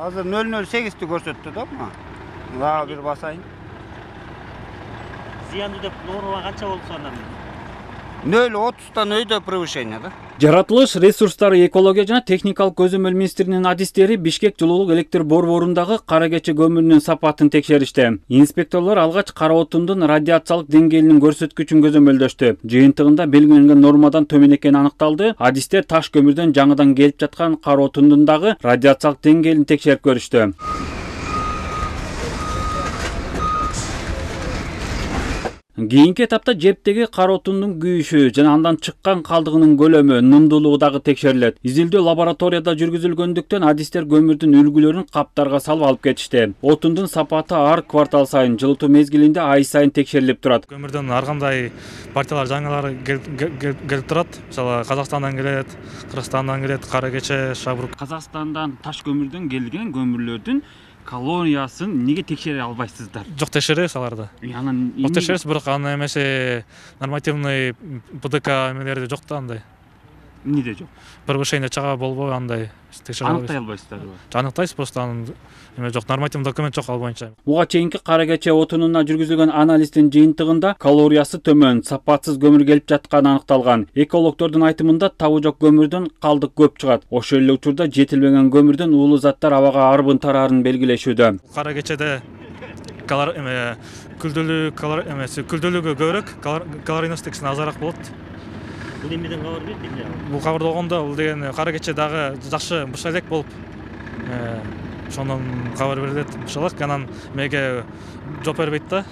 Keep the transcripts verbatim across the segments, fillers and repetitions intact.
Азыр нөл нөл сегизди көрсөттү да мына. Дагы бир басайын. Зыяндуу деп норма канча болду сонда? нөл отуздан өйдө превышение да. Жаратылыш ресурстары экология жана техникалык көзөмөл министринин адистери Бишкек жылуулук электр борборундагы кара кече көмүрүнүн сапатын текшеришти. Инспекторлор алгач кара отундун радиациялык деңгээлинин көрсөткүчүн көзөмөлдөштү. Жыйынтыгында белгиленген нормадан төмөн экени аныкталды. Адистер таш көмүрдөн жаңыдан келип жаткан кара отундун дагы радиациялык деңгээлин текшерип көрүштү. Кийинки этапта жептеги кара отундун күйүшү жана андан чыккан калдыгынын көлөмү, нымдуулугу дагы текшерилет. Изилдөө лабораторияда жүргүзүлгөндүктөн адистер көмүрдүн үлгүлөрүн каптарга салып алып кетишти. Отундун сапаты ар квартал сайын, жылытуу мезгилинде ай сайын текшерилип турат. Көмүрдөн ар кандай партиялар жаңылары келип турат. Мисалы Казакстандан келет, Кыргызстандан келет, кара кече, шабрук. Казакстандан таш көмүрдөн келген көмүрлөрдүн калориясын неге текшере албайсыздар? Жок, текшеребиз аларды. Анан Ол текшеребиз, бирок аны эмесе нормативный ПДК эмелери жок да андай. Эмнеде жок? Превышение чага болбой андай текшере албайбыз. Аныктай албайсыздарбы? Аныктайбыз, просто анын эме жок, нормативный документ жок ал боюнча. Буга чейинки кара кече отунуна жүргүзүлгөн анализдин жыйынтыгында калориясы төмөн, сапатсыз көмүр келип жатканы аныкталган. Экологдордун айтымында табы жок көмүрдөн калдык көп чыгат. Ошол эле учурда жетилбеген көмүрдөн уулуу заттар абага арбын тараарын белгилешүүдө. Кара кечеде калор эме күлдөлүү калор эмеси күлдөлүгү көбүрөөк, калорийностикси азыраак болот. Бул эмнеден кабар берди? Бул кабарды болгондо бул деген кара кече дагы жакшы буша элек болуп, ошондон кабар берилет. Бушалак анан меге жооп бербейт да.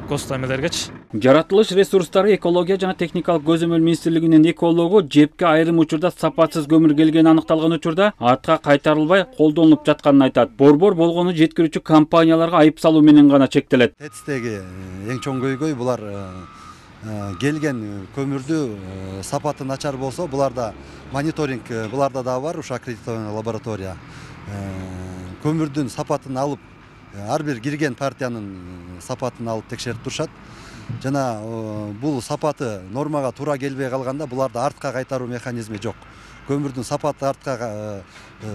Коста эмелергечи. Жаратылыш ресурстары экология жана техникалык көзөмөл министрлигинин экологу жепке айрым учурда сапатсыз көмүр келгени аныкталган учурда артка кайтарылбай колдонулуп жатканын айтат. Борбор болгону жеткирүүчү компанияларга айып салуу менен гана чектелет. ТЭЦтеги эң чоң көйгөй булар келген көмүрдү сапаты начар болсо, буларда мониторинг буларда да бар, ушу аккредитованный лаборатория. Көмүрдүн сапатын алып, ар бир кирген партиянын сапатын алып текшерип турушат. Жана бул сапаты нормага туура келбей калганда буларда артка кайтаруу механизми жок. Көмүрдүн сапаты артка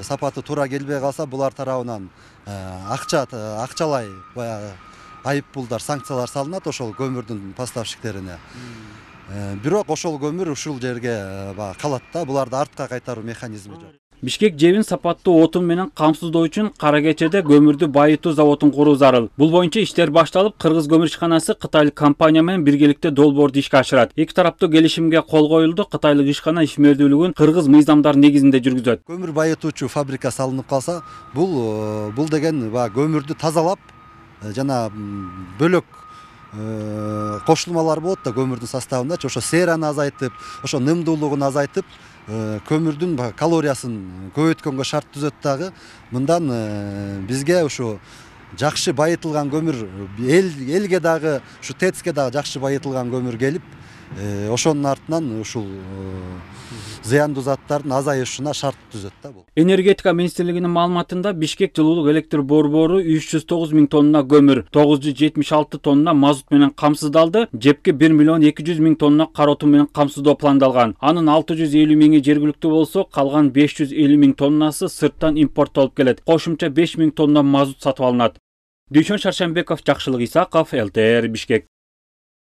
сапаты туура келбей калса, булар тарабынан акча акчалай баягы айып пулдар, санкциялар салынат ошол көмүрдүн поставщиктерине. Бирок ошол көмүр ушул жерге калат да, буларда артка кайтаруу механизми жок. Бишкек жебин сапаттуу отун менен камсыздоо үчүн кара кечеде көмүрдү байытуу заводун куруу зарыл. Бул боюнча иштер башталып, Кыргыз көмүр ишканасы кытайлык компания менен биргеликте долбоорду ишке ашырат. Эки тараптуу келишимге кол коюлду. Кытайлык ишкана ишмердүүлүгүн кыргыз мыйзамдар негизинде жүргүзөт. Көмүр байытуучу фабрика салынып калса, бул бул деген көмүрдү тазалап, жана бөлөк кошулмалар болот да көмүрдүн составындачы, ошо сераны азайтып, ошо нымдуулугун азайтып, көмүрдүн калориясын көбөйткөнгө шарт түзөт дагы. Мындан бизге ушу жакшы байытылган көмүр, элге дагы, ушу ТЭЦке дагы жакшы байытылган көмүр келип, ошонун артынан ушул зыяндуу заттардын азайышына шарт түзөт да бул. Энергетика министрлигинин маалыматында Бишкек жылуулук электр борбору үч жүз тогуз миң тонна көмүр, тогуз жүз жетимиш алты тонна мазут менен камсыздалды. Жепке бир миллион эки жүз миң тонна кара отун менен камсыздоо пландалган. Анын алты жүз элүү миңи жергиликтүү болсо, калган беш жүз элүү миң тоннасы сырттан импорттолуп келет. Кошумча беш миң тонна мазут сатып алынат. Дүйшөн Шаршембеков, Жакшылык Исаков, эл тэ эр Бишкек.